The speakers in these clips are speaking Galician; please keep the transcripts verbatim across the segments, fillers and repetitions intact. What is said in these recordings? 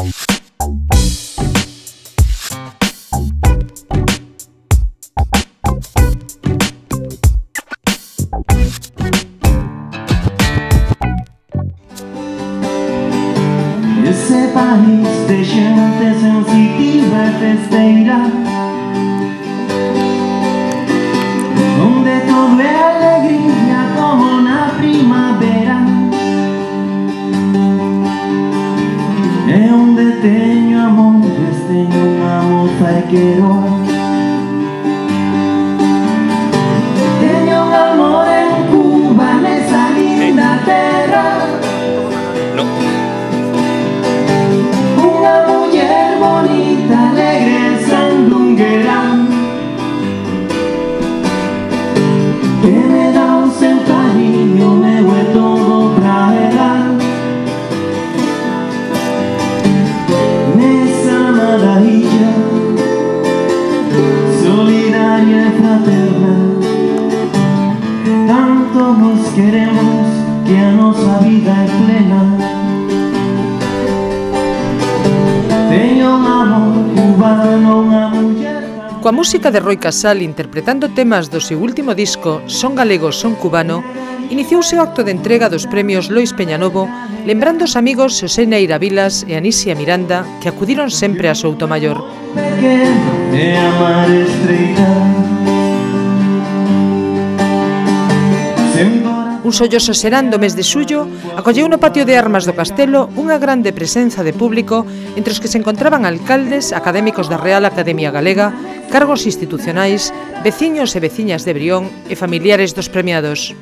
Ese país de gente sensitiva e festeira, onde todo é alegría como na primavera, e onde teño amores, teño unha moza e quero. Teño un amor en Cuba, nesa linda terra. No. Unha muller bonita, alegre, sandunguera, que me dá un seu cariño, meu é todo pra ela. Nesa amada illa, solidaria e fraterna, tanto nos queremos que a nosa vida é plena. Teño un amor cubano, unha muller. Coa música de Roi Casal interpretando temas do seu último disco Son galego, son cubano, iniciouse o acto de entrega dos premios Lois Peñanovo, lembrando os amigos Xosé Neira Vilas e Anisia Miranda, que acudiron sempre a Soutomaior. Un solloso serán do mes de xullo acolleu no patio de armas do castelo unha grande presenza de público entre os que se encontraban alcaldes, académicos da Real Academia Galega, cargos institucionais, veciños e veciñas de Brión e familiares dos premiados.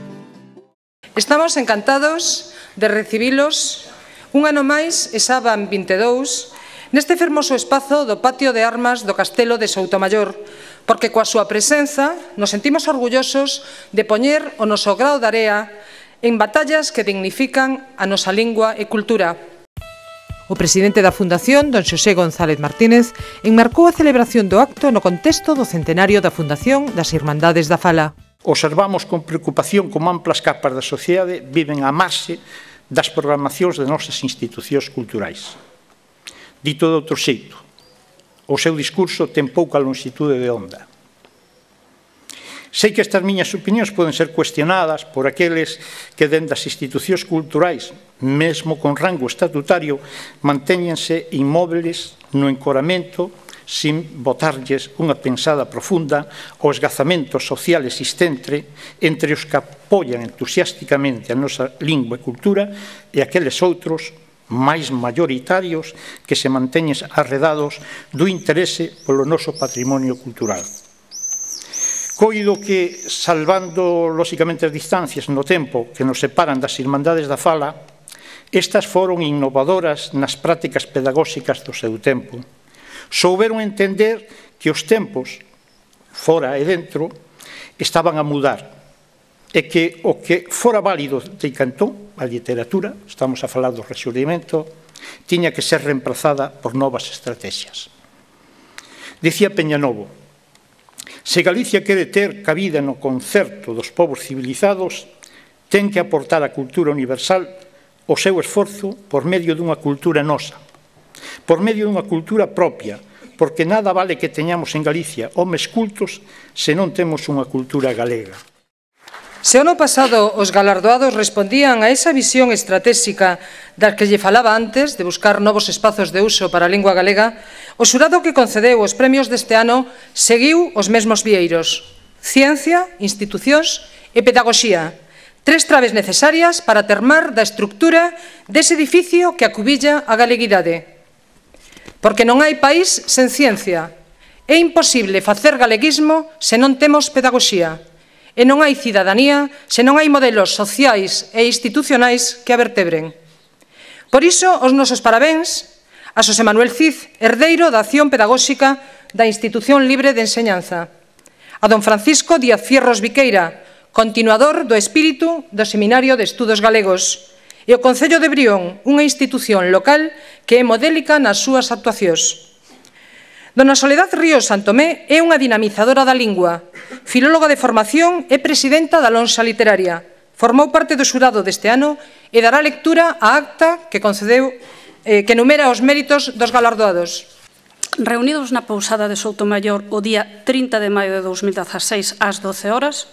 Estamos encantados de recibilos un ano máis e xa van vinte e dous neste fermoso espazo do patio de armas do castelo de Soutomaior, porque coa súa presenza nos sentimos orgullosos de poñer o noso grao de area en batallas que dignifican a nosa lingua e cultura. O presidente da Fundación, don Xosé González Martínez, enmarcou a celebración do acto no contexto do centenario da Fundación das Irmandades da Fala. Observamos con preocupación como amplas capas da sociedade viven á marxe das programacións de nosas institucións culturais. Dito de outro xeito, o seu discurso ten pouca longitude de onda. Sei que estas miñas opinións poden ser cuestionadas por aqueles que dende as institucións culturais, mesmo con rango estatutario, mantéñense inmóviles no encoramento sin botarlles unha pensada profunda ao esgazamento social existente entre os que apoian entusiásticamente a nosa lingua e cultura e aqueles outros máis maioritarios que se manteñen arredados do interese polo noso patrimonio cultural. Coido que, salvando lóxicamente as distancias no tempo que nos separan das Irmandades da Fala, estas foron innovadoras nas prácticas pedagóxicas do seu tempo. Souberon entender que os tempos, fora e dentro, estaban a mudar e que o que fora válido de Cantón, a literatura, estamos a falar do rexurdimento, tiña que ser reemplazada por novas estrategias. Dicía Peñanovo, se Galicia quere ter cabida no concerto dos povos civilizados, ten que aportar á cultura universal o seu esforzo por medio dunha cultura nosa, por medio dunha cultura propia, porque nada vale que teñamos en Galicia homes cultos se non temos unha cultura galega. Se o ano pasado os galardoados respondían a esa visión estratégica das que lle falaba antes de buscar novos espazos de uso para a lingua galega, o xurado que concedeu os premios deste ano seguiu os mesmos vieiros: ciencia, institucións e pedagogía, tres traves necesarias para termar da estructura dese edificio que acubilla a galeguidade. Porque non hai país sen ciencia. É imposible facer galeguismo se non temos pedagogía. E non hai cidadanía se non hai modelos sociais e institucionais que a vertebren. Por iso, os nosos parabéns a Xosé Manuel Cid, herdeiro da acción pedagóxica da Institución Libre de Enseñanza, a don Francisco Díaz Fierros Viqueira, continuador do espírito do Seminario de Estudos Galegos, e o Concello de Brión, unha institución local que é modélica nas súas actuacións. Dona Soledad Ríos Santomé é unha dinamizadora da lingua, filóloga de formación e presidenta da Lonxa Literaria. Formou parte do xurado deste ano e dará lectura á acta que concedeu eh, que enumera os méritos dos galardoados. Reunidos na pousada de Soutomaior o día trinta de maio de dous mil dezaseis ás doce horas,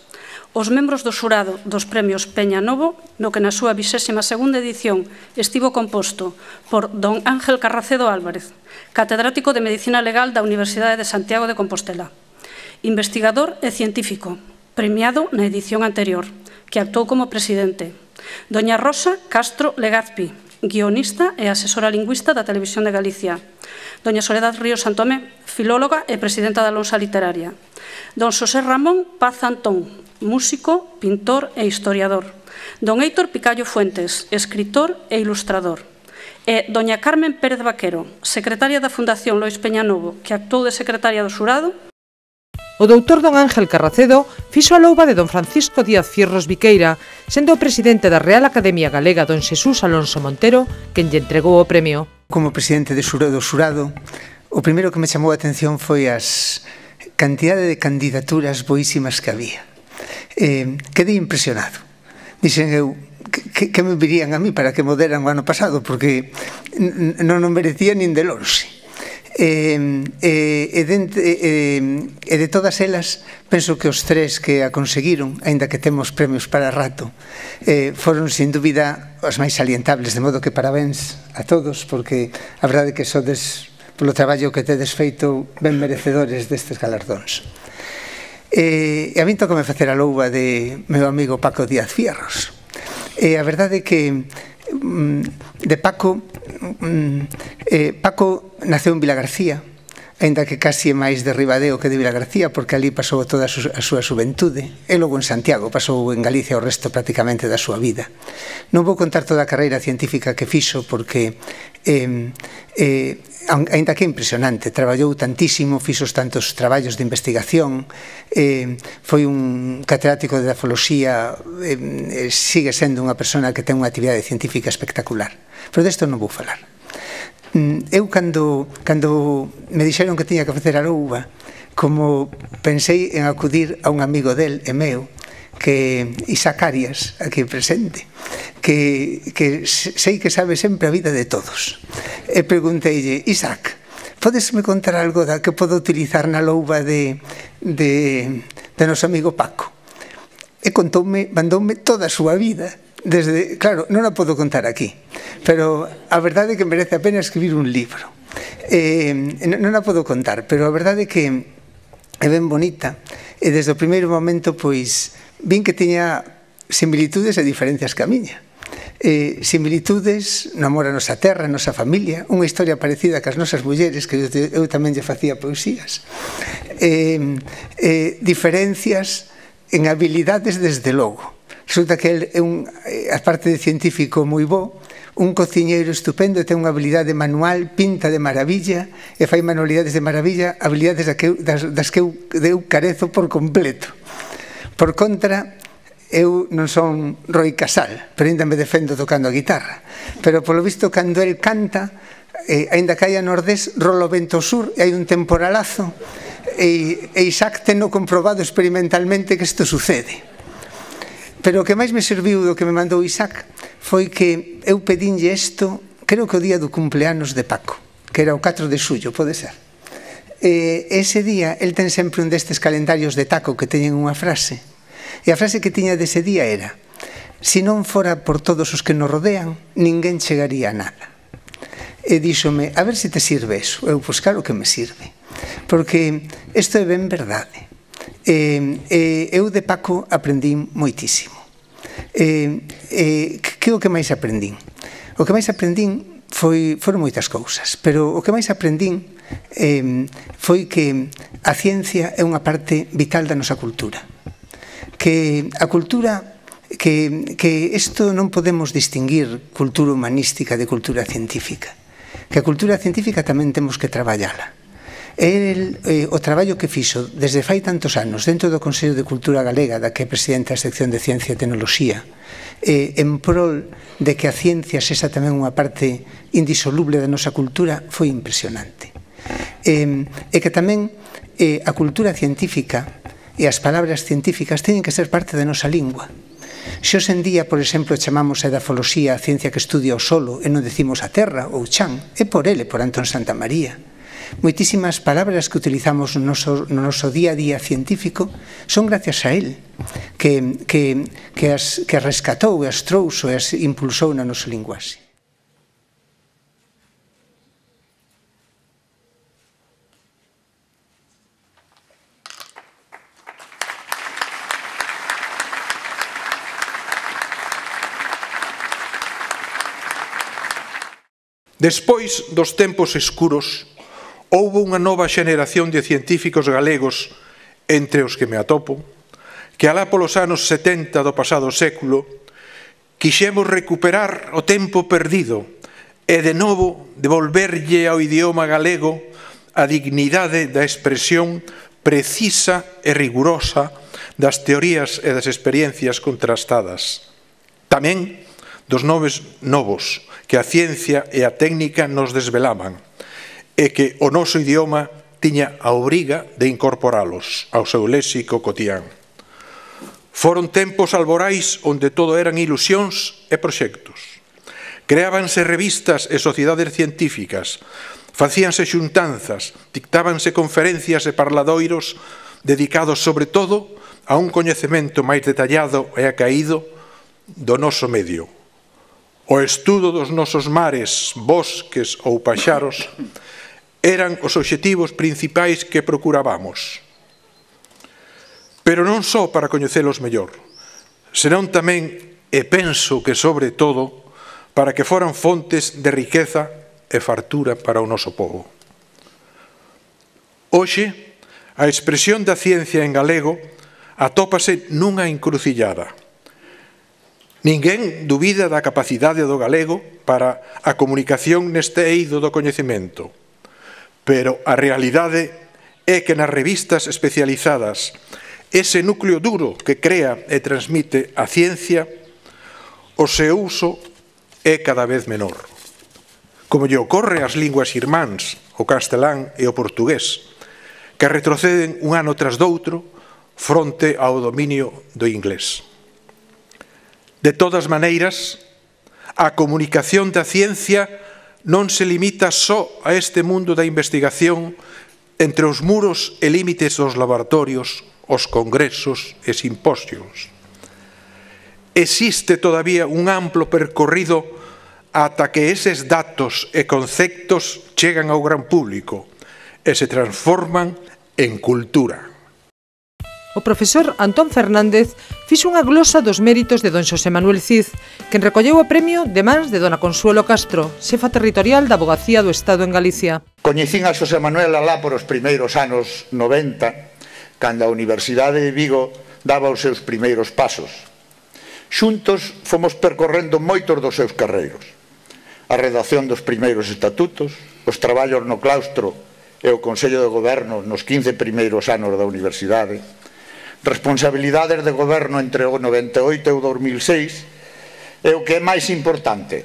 os membros do xurado dos premios Peña Novo, no que na súa vixésima segunda edición estivo composto por don Ángel Carracedo Álvarez, catedrático de Medicina Legal da Universidade de Santiago de Compostela, investigador e científico, premiado na edición anterior, que actuou como presidente, doña Rosa Castro Legazpi, guionista e asesora lingüista da Televisión de Galicia, doña Soledad Ríos Santomé, filóloga e presidenta da Lonsa Literaria, don Xosé Ramón Paz Antón, músico, pintor e historiador, don Héctor Picallo Fuentes, escritor e ilustrador, e doña Carmen Pérez Vaquero, secretaria da Fundación Lois Peñanovo, que actuou de secretaria do xurado. O doutor don Ángel Carracedo fixo a louba de don Francisco Díaz Fierros Viqueira, sendo o presidente da Real Academia Galega don Xesús Alonso Montero quen lle entregou o premio. Como presidente do xurado, o primeiro que me chamou a atención foi as cantidade de candidaturas boísimas que había. Eh, quedei impresionado. Dixen eu, que, que me virían a mí para que me deran o ano pasado, porque non o merecía nin de lonxe. E, e, e, de, e, e de todas elas, penso que os tres que a conseguiron, aínda que temos premios para rato, eh, foron, sin dúbida, os máis salientables, de modo que parabéns a todos, porque a verdade que sodes, polo traballo que tedes feito, ben merecedores destes galardóns. E a min toca me facer a louba de meu amigo Paco Díaz Fierros. E a verdade é que de Paco, Paco naceu en Vilagarcía, aínda que casi é máis de Ribadeo que de Vilagarcía, porque ali pasou toda a súa xuventude, e logo en Santiago, pasou en Galicia o resto prácticamente da súa vida. Non vou contar toda a carreira científica que fixo, porque eh, eh, aínda que é impresionante, traballou tantísimo, fixo tantos traballos de investigación, eh, foi un catedrático de dafoloxía, eh, sigue sendo unha persona que ten unha actividade científica espectacular. Pero desto non vou falar. Eu, cando, cando me dixeron que tiña que facer a louba, como pensei en acudir a un amigo del e meu, que Isaac Arias, aquí presente, que, que sei que sabe sempre a vida de todos. E pregunteille, Isaac, podesme contar algo da que podo utilizar na louba de, de, de noso amigo Paco? E contoume, mandoume toda a súa vida. Desde, claro, non a podo contar aquí, pero a verdade é que merece a pena escribir un libro. Eh, non a podo contar, pero a verdade é que é ben bonita, e desde o primeiro momento, pois, vin que tiña similitudes e diferencias que a miña. Eh, similitudes no amor a nosa terra, a nosa familia, unha historia parecida que as nosas mulleres, que eu, eu tamén lle facía poesías. Eh, eh, diferencias en habilidades, desde logo. Resulta que el é un, aparte de científico moi bo, un cociñeiro estupendo, ten unha habilidade manual, pinta de maravilla e fai manualidades de maravilla, habilidades das que eu carezo por completo. Por contra, eu non son Roi Casal, pero ainda me defendo tocando a guitarra. Pero polo visto, cando el canta, eh, ainda que haya nordés, rola o vento sur e hai un temporalazo, e, e Isaac teno comprobado experimentalmente que isto sucede. Pero o que máis me serviu do que me mandou Isaac foi que eu pedinlle isto, creo que o día do cumpleanos de Paco, que era o catro de xullo, pode ser. E ese día, el ten sempre un destes calendarios de taco que teñen unha frase, e a frase que tiña dese día era: si non fora por todos os que nos rodean, ninguén chegaría a nada. E díxome, a ver se te sirve eso. Eu, pois claro que me sirve, porque isto é ben verdade. Eh, eh, eu de Paco aprendín moitísimo. Eh, eh, que o que máis aprendín? O que máis aprendín foi, foron moitas cousas, pero o que máis aprendín eh, foi que a ciencia é unha parte vital da nosa cultura. Que a cultura, que, que isto non podemos distinguir cultura humanística de cultura científica. Que a cultura científica tamén temos que traballala. El, eh, o traballo que fixo desde fai tantos anos dentro do Consello de Cultura Galega, da que é presidente da sección de Ciencia e Tecnoloxía, eh, en prol de que a ciencia sexa tamén unha parte indisoluble da nosa cultura, foi impresionante. Eh, e que tamén eh, a cultura científica e as palabras científicas teñen que ser parte da nosa lingua. Se hoxe en día, por exemplo, chamamos a edafoloxía a ciencia que estudia o solo e non decimos a terra ou chan, é por ele, por Antón Santamaría. Moitísimas palabras que utilizamos no noso, no noso día a día científico son gracias a él, que, que, que, as, que as rescatou e as trouxo e as impulsou na nosa linguaxe. Despois dos tempos escuros, houbo unha nova xeneración de científicos galegos, entre os que me atopo, que alá polos anos setenta do pasado século quixemos recuperar o tempo perdido e de novo devolverlle ao idioma galego a dignidade da expresión precisa e rigurosa das teorías e das experiencias contrastadas. Tamén dos nomes novos que a ciencia e a técnica nos desvelaban, e que o noso idioma tiña a obriga de incorporalos ao seu léxico cotián. Foron tempos alborais onde todo eran ilusións e proxectos. Creábanse revistas e sociedades científicas, facíanse xuntanzas, dictábanse conferencias e parladoiros dedicados sobre todo a un coñecemento máis detallado e acaído do noso medio. O estudo dos nosos mares, bosques ou paxaros eran os obxectivos principais que procurábamos. Pero non só para coñecelos mellor, senón tamén, e penso que sobre todo, para que foran fontes de riqueza e fartura para o noso povo. Hoxe, a expresión da ciencia en galego atópase nunha encrucillada. Ninguén dubida da capacidade do galego para a comunicación neste eido do coñecemento, pero a realidade é que nas revistas especializadas ese núcleo duro que crea e transmite a ciencia, o seu uso é cada vez menor. Como lle ocorre ás linguas irmáns, o castelán e o portugués, que retroceden un ano tras doutro fronte ao dominio do inglés. De todas maneiras, a comunicación da ciencia non se limita só a este mundo da investigación entre os muros e límites dos laboratorios, os congresos e simposios. Existe todavía un amplo percorrido ata que eses datos e conceptos chegan ao gran público e se transforman en cultura. O profesor Antón Fernández fixo unha glosa dos méritos de don Xosé Manuel Cid, quen recolleu o premio de mans de dona Consuelo Castro, xefa territorial da Avogacía do Estado en Galicia. Coñecín a Xosé Manuel alá por os primeiros anos noventa, cando a Universidade de Vigo daba os seus primeiros pasos. Xuntos fomos percorrendo moitos dos seus carreiros. A redacción dos primeiros estatutos, os traballos no claustro e o Consello de Goberno nos quince primeiros anos da Universidade, responsabilidades de goberno entre o noventa e oito e o dos mil seis, e o que é máis importante,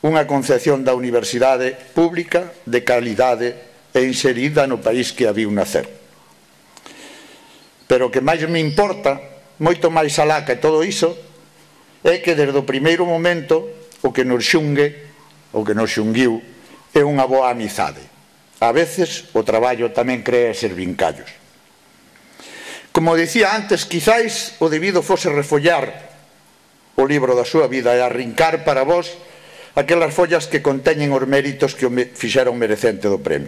unha concepción da universidade pública de calidade e inserida no país que a viu nacer. Pero o que máis me importa, moito máis alá que todo iso, é que desde o primeiro momento o que nos xungue, o que nos xunguiu, é unha boa amizade. A veces o traballo tamén crea eses vincallos. Como dicía antes, quizáis o debido fose refollar o libro da súa vida e arrincar para vós aquelas follas que conteñen os méritos que o fixeron merecente do premio.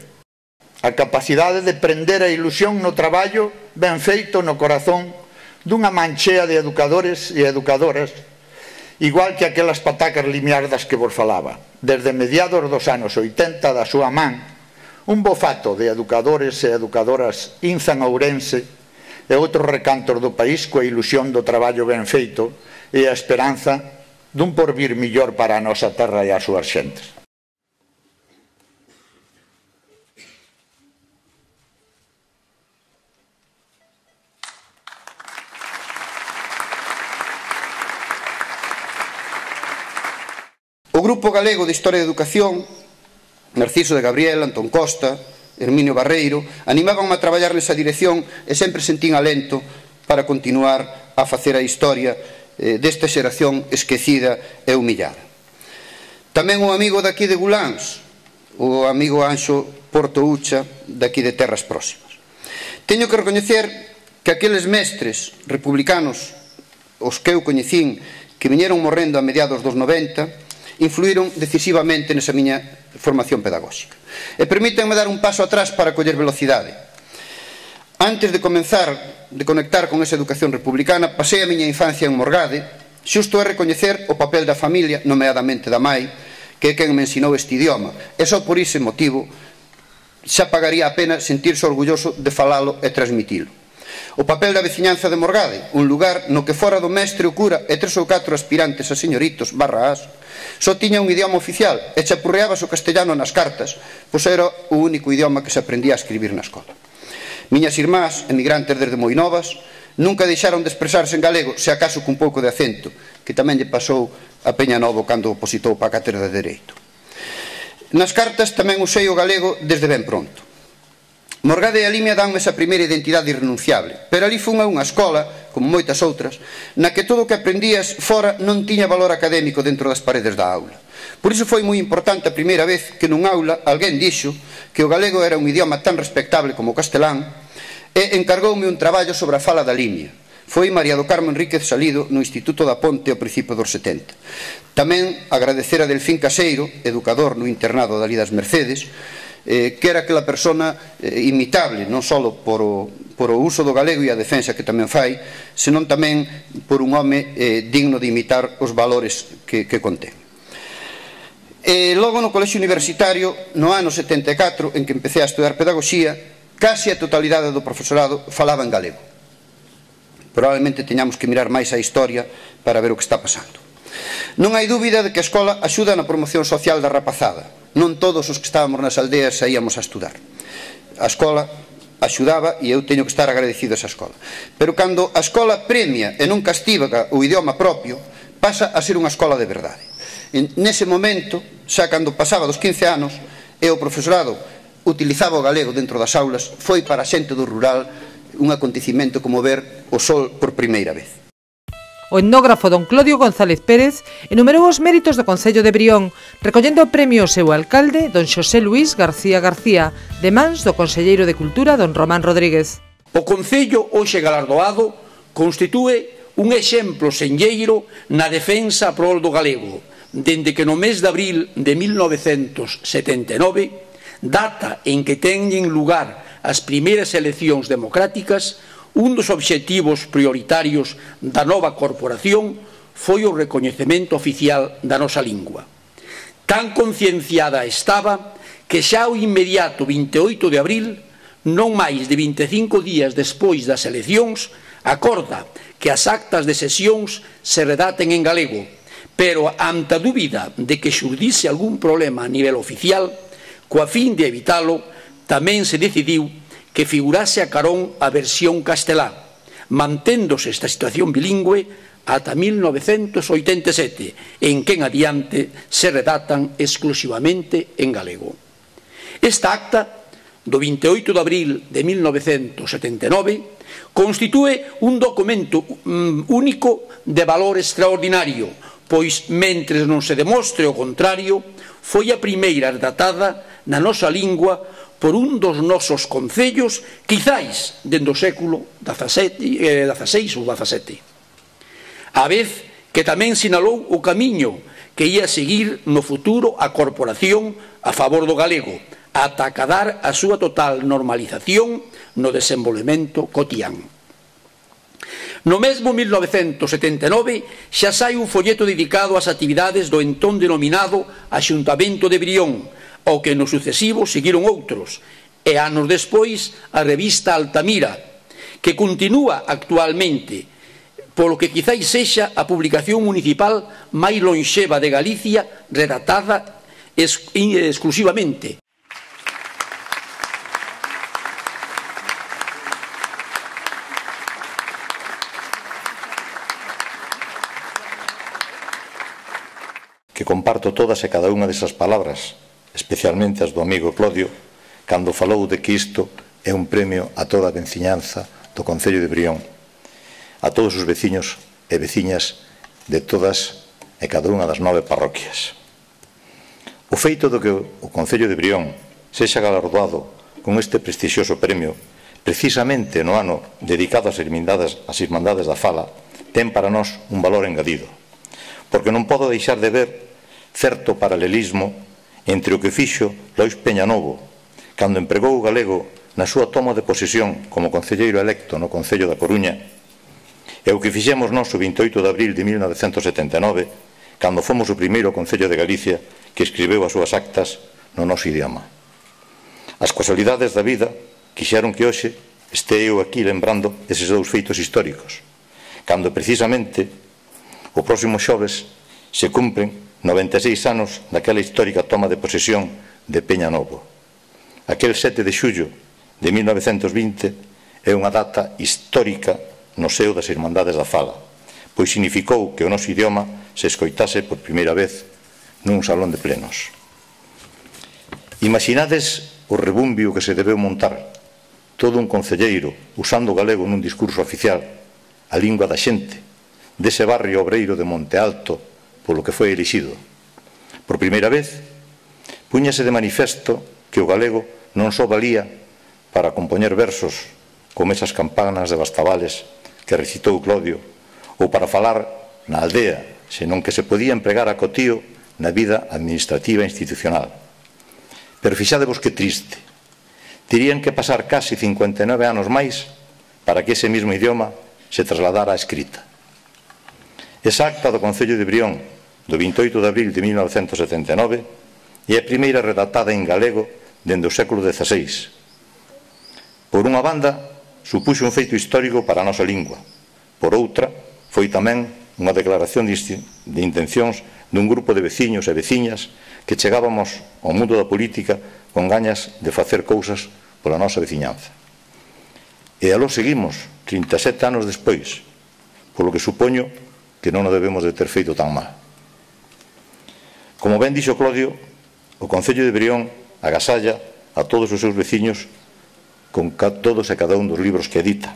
A capacidade de prender a ilusión no traballo ben feito no corazón dunha manchea de educadores e educadoras, igual que aquelas patacas limiardas que vos falaba. Desde mediados dos anos oitenta da súa man, un bofato de educadores e educadoras inzan a Ourense e outros recantos do país coa ilusión do traballo ben feito e a esperanza dun porvir millor para a nosa terra e as súas xentes. O Grupo Galego de Historia e Educación, Narciso de Gabriel, Antón Costa, Herminio Barreiro, animábanme a traballar nesa dirección e sempre sentín alento para continuar a facer a historia desta xeración esquecida e humillada. Tamén o amigo daqui de Guláns, o amigo Anxo Portoucha, daqui de terras próximas. Teño que recoñecer que aqueles mestres republicanos, os que eu coñecín, que viñeron morrendo a mediados dos noventa, influíron decisivamente nesa miña formación pedagóxica. E permítanme dar un paso atrás para coller velocidade. Antes de comenzar, de conectar con esa educación republicana, pasei a miña infancia en Morgade, xusto é recoñecer o papel da familia, nomeadamente da mai, que é quen me ensinou este idioma, e só por ese motivo xa pagaría a pena sentirse orgulloso de falalo e transmitilo. O papel da veciñanza de Morgade, un lugar no que fora do mestre o cura e tres ou catro aspirantes a señoritos barra as, só tiña un idioma oficial e chapurreabas o castellano nas cartas, pois era o único idioma que se aprendía a escribir na escola. Miñas irmás, emigrantes desde moi novas, nunca deixaron de expresarse en galego, se acaso cun pouco de acento, que tamén lle pasou a Peña Novo cando opositou para a cátedra de Dereito. Nas cartas tamén usei o galego desde ben pronto. Morgade e a Limia danme esa primeira identidade irrenunciable, pero ali fun a unha escola, como moitas outras, na que todo o que aprendías fora non tiña valor académico dentro das paredes da aula. Por iso foi moi importante a primeira vez que nun aula alguén dixo que o galego era un idioma tan respectable como o castelán e encargoume un traballo sobre a fala da Limia. Foi María do Carmo Enríquez Salido no Instituto da Ponte ao principio dos setenta. Tamén agradecer a Delfín Caseiro, educador no internado da Lidas Mercedes, eh, que era aquela persona eh, imitable, non só por o, por o uso do galego e a defensa que tamén fai, senón tamén por un home eh, digno de imitar os valores que, que contén. E logo no colexio universitario, no ano setenta e catro, en que empecé a estudar pedagogía, case a totalidade do profesorado falaba en galego. Probablemente teñamos que mirar máis a historia para ver o que está pasando. Non hai dúbida de que a escola axuda na promoción social da rapazada. Non todos os que estábamos nas aldeas saíamos a estudar. A escola axudaba e eu teño que estar agradecido a esa escola. Pero cando a escola premia e non castiga o idioma propio, pasa a ser unha escola de verdade. Nese momento, xa cando pasaba dos quince anos, e o profesorado utilizaba o galego dentro das aulas, foi para a xente do rural un acontecimento como ver o sol por primeira vez. O etnógrafo don Clodio González Pérez enumerou os méritos do Concello de Brión, recollendo o premio ao seu alcalde, don Xosé Luís García García, de mans do conselleiro de Cultura, don Román Rodríguez. O Concello, hoxe galardoado, constitúe un exemplo senlleiro na defensa a prol do galego, dende que no mes de abril de mil novecentos setenta e nove, data en que teñen lugar as primeiras eleccións democráticas, un dos obxectivos prioritarios da nova corporación foi o recoñecemento oficial da nosa lingua. Tan concienciada estaba que xa o inmediato vinte e oito de abril, non máis de vinte e cinco días despois das eleccións, acorda que as actas de sesións se redaten en galego, pero ante a dúbida de que xurdise algún problema a nivel oficial, coa fin de evitalo, tamén se decidiu que figurase a carón a versión castelá, manténdose esta situación bilingüe ata mil novecentos oitenta e sete, en que en adiante se redatan exclusivamente en galego. Esta acta, do vinte e oito de abril de mil novecentos setenta e nove, constitúe un documento único de valor extraordinario, pois, mentres non se demostre o contrario, foi a primeira redatada na nosa lingua por un dos nosos concellos, quizáis dende o século dezaseis ou dezasete. A vez que tamén sinalou o camiño que ia seguir no futuro a corporación a favor do galego, ata acadar a súa total normalización no desenvolvemento cotián. No mesmo mil novecentos setenta e nove xa sai un folleto dedicado ás actividades do entón denominado Axuntamento de Brión, ao que no sucesivo seguiron outros, e anos despois a revista Altamira, que continúa actualmente, polo que quizáis sexa a publicación municipal máis lonxeva de Galicia redactada exclusivamente. Que comparto todas e cada unha desas palabras, especialmente as do amigo Clodio, cando falou de que isto é un premio a toda a veciñanza do Concello de Brión, a todos os veciños e veciñas de todas e cada unha das nove parroquias. O feito do que o Concello de Brión sexa galardoado con este prestixioso premio precisamente no ano dedicado ás Irmandades, ás Irmandades da Fala ten para nós un valor engadido, porque non podo deixar de ver certo paralelismo entre o que fixo Lois Peñanovo cando empregou o galego na súa toma de posesión como concelleiro electo no Concello da Coruña e o que fixemos nós o vinte e oito de abril de mil novecentos setenta e nove cando fomos o primeiro Concello de Galicia que escribeu as súas actas no noso idioma. As casualidades da vida quixeron que hoxe este eu aquí lembrando eses dous feitos históricos, cando precisamente o próximo xoves se cumpren noventa e seis anos daquela histórica toma de posesión de Peñanovo. Aquel sete de xullo de mil novecentos vinte é unha data histórica no seo das Irmandades da Fala, pois significou que o noso idioma se escoitase por primeira vez nun salón de plenos. Imaginades o rebumbio que se debeu montar todo un concelleiro usando o galego nun discurso oficial, a lingua da xente, dese barrio obreiro de Monte Alto polo que foi elixido. Por primeira vez, púñase de manifesto que o galego non só valía para compoñer versos como esas campanas de Bastavales que recitou Clodio, ou para falar na aldea, senón que se podía empregar a cotío na vida administrativa e institucional. Pero fixadevos que triste. Terían que pasar casi cincuenta e nove anos máis para que ese mismo idioma se trasladara á escrita. Esa acta do Concello de Brión do vinte e oito de abril de mil novecentos setenta e nove é a primeira redactada en galego dende o século dezaseis. Por unha banda, supuxo un feito histórico para a nosa lingua. Por outra, foi tamén unha declaración de intencións dun grupo de veciños e veciñas que chegábamos ao mundo da política con gañas de facer cousas pola nosa veciñanza. E aló seguimos, trinta e sete anos despois, polo que supoño que non o debemos de ter feito tan mal. Como ben dixo Clodio, o Concello de Brión agasalla a todos os seus veciños con todos e cada un dos libros que edita.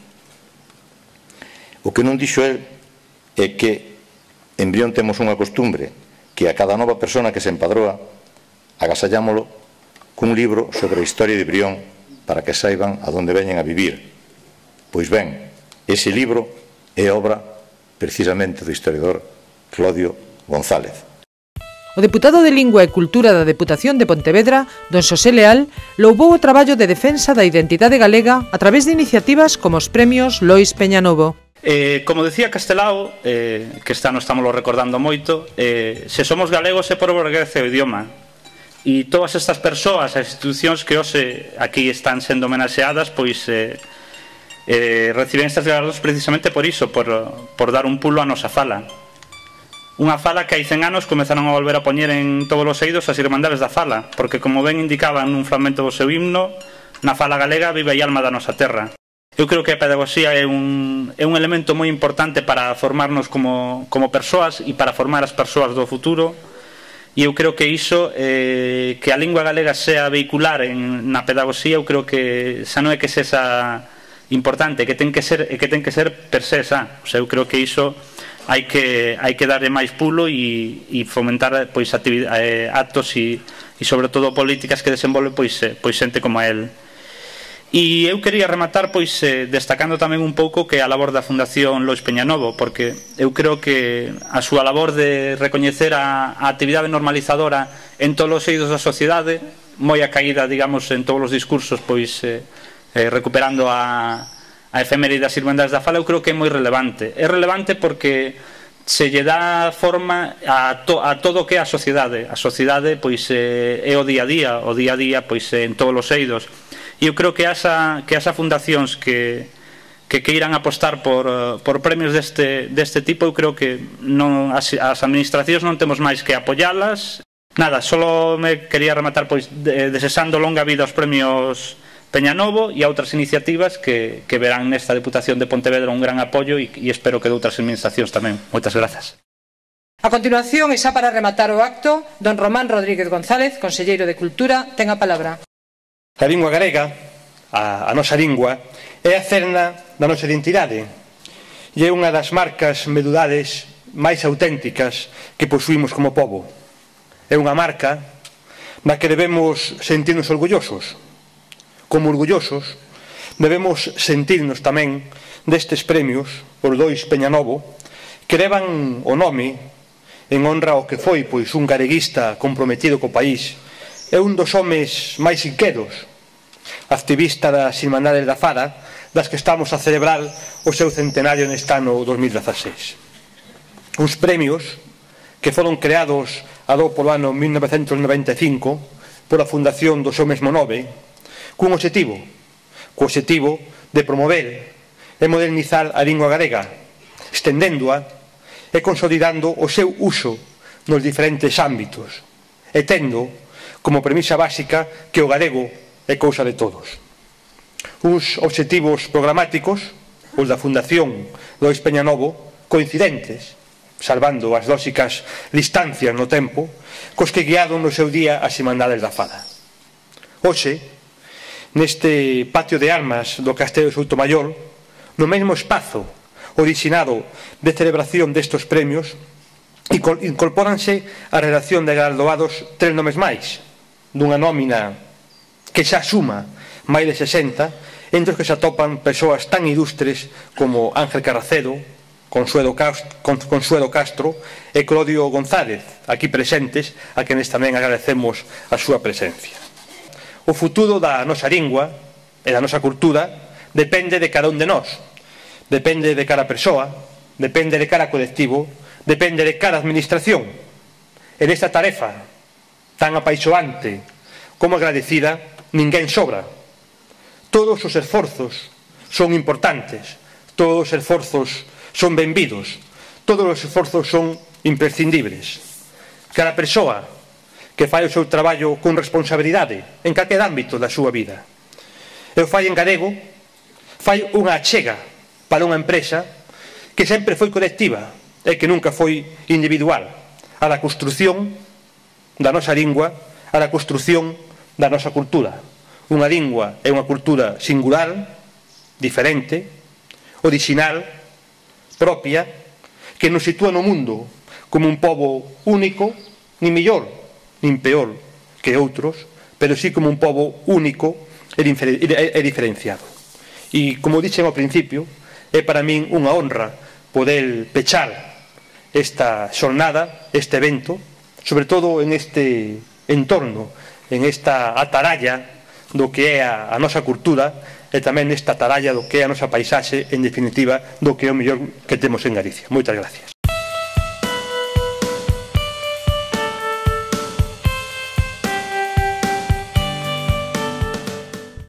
O que non dixo el é que en Brión temos unha costumbre que a cada nova persona que se empadroa agasallámolo cun libro sobre a historia de Brión para que saiban a donde veñen a vivir. Pois ben, ese libro é obra precisamente do historiador Clodio González. O deputado de Lingua e Cultura da Deputación de Pontevedra, don Xosé Leal, louvou o traballo de defensa da identidade galega a través de iniciativas como os premios Lois Peñanovo. Eh, como decía Castelao, eh, que esta non estamos recordando moito, eh, se somos galegos é por orguecer o idioma. E todas estas persoas, as institucións que hoxe aquí están sendo homenaxeadas, pois eh, eh, reciben estas galardos precisamente por iso, por, por dar un pulo a nosa fala. Unha fala que hai cen anos comezaron a volver a poñer en todos os eidos as Irmandades da Fala, porque como ben indicaban nun fragmento do seu himno, na fala galega vive a alma da nosa terra. Eu creo que a pedagogía é un, é un elemento moi importante para formarnos como, como persoas e para formar as persoas do futuro, e eu creo que iso, eh, que a lingua galega sea vehicular en, na pedagogía, eu creo que xa non é que sexa importante, que ten que ser, que ten que ser per se xa. O sea, eu creo que iso hai que, hai que darle máis pulo e, e fomentar pois, eh, actos e, e sobre todo políticas que desenvolve pois, eh, pois xente como a él. E eu quería rematar pois eh, destacando tamén un pouco que a labor da Fundación Lois Peñanovo, porque eu creo que a súa labor de recoñecer a, a actividade normalizadora en todos os eidos da sociedade, moi a caída, digamos, en todos os discursos, pois eh, eh, recuperando a a efeméride das Irmandades da Fala, eu creo que é moi relevante. É relevante porque se lle dá forma a, to, a todo o que é a sociedade. A sociedade pois é, é o día a día, o día a día pois é en todos os eidos. E eu creo que asa, que asa fundacións que, que queiran apostar por, por premios deste, deste tipo, eu creo que non, as, as administracións non temos máis que apoyalas. Nada, só me quería rematar pois de, desexando longa vida aos premios Peñanovo e a outras iniciativas que, que verán nesta Deputación de Pontevedra un gran apoio e, e espero que de outras administracións tamén. Moitas grazas. A continuación, e xa para rematar o acto, don Román Rodríguez González, conselleiro de Cultura, ten a palabra. A lingua galega, a, a nosa lingua, é a cerna da nosa identidade. e é unha das marcas medulares máis auténticas que posuímos como pobo. É unha marca na que debemos sentirnos orgullosos. Como orgullosos, debemos sentirnos tamén destes premios, os dois Peñanovo, que levan o nome en honra ao que foi pois un gareguista comprometido co país e un dos homes máis inquedos, activista das Irmandades da Fada, das que estamos a celebrar o seu centenario neste ano dos mil dezaseis. Uns premios que foron creados a do polo ano mil novecentos noventa e cinco pola fundación do seu mesmo nome, cun obxectivo, co obxectivo de promover e modernizar a lingua galega, estendéndoa e consolidando o seu uso nos diferentes ámbitos, e tendo como premisa básica que o galego é cousa de todos. Uns obxectivos programáticos, os da Fundación Lois Peñanovo, coincidentes, salvando as lóxicas distancias no tempo, cos que guiaron no seu día as Irmandades da Fada. Hoxe, neste patio de armas do Castelo de Soutomaior, no mesmo espazo originado de celebración destes premios, incorpóranse a redacción de galardoados tres nomes máis, dunha nómina que xa suma máis de sesenta, entre os que se atopan persoas tan ilustres como Ángel Carracedo, Consuelo Castro e Claudio González, aquí presentes, a quenes tamén agradecemos a súa presencia. O futuro da nosa lingua e da nosa cultura depende de cada un de nós, depende de cada persoa, depende de cada colectivo, depende de cada administración. E nesta tarefa tan apaixoante como agradecida, ninguén sobra. Todos os esforzos son importantes, todos os esforzos son benvidos, todos os esforzos son imprescindibles. Cada persoa que fai o seu traballo con responsabilidade en calquer ámbito da súa vida. E o fai en galego, fai unha achega para unha empresa que sempre foi colectiva e que nunca foi individual, a da construción da nosa lingua, a da construción da nosa cultura. Unha lingua é unha cultura singular, diferente, original, propia, que nos sitúa no mundo como un pobo único, nin mellor, nin peor que outros, pero sí como un pobo único e diferenciado. E, como dixen ao principio, é para min unha honra poder pechar esta xornada, este evento, sobre todo en este entorno, en esta ataralla do que é a, a nosa cultura e tamén nesta ataralla do que é a nosa paisaxe, en definitiva, do que é o mellor que temos en Galicia. Moitas gracias.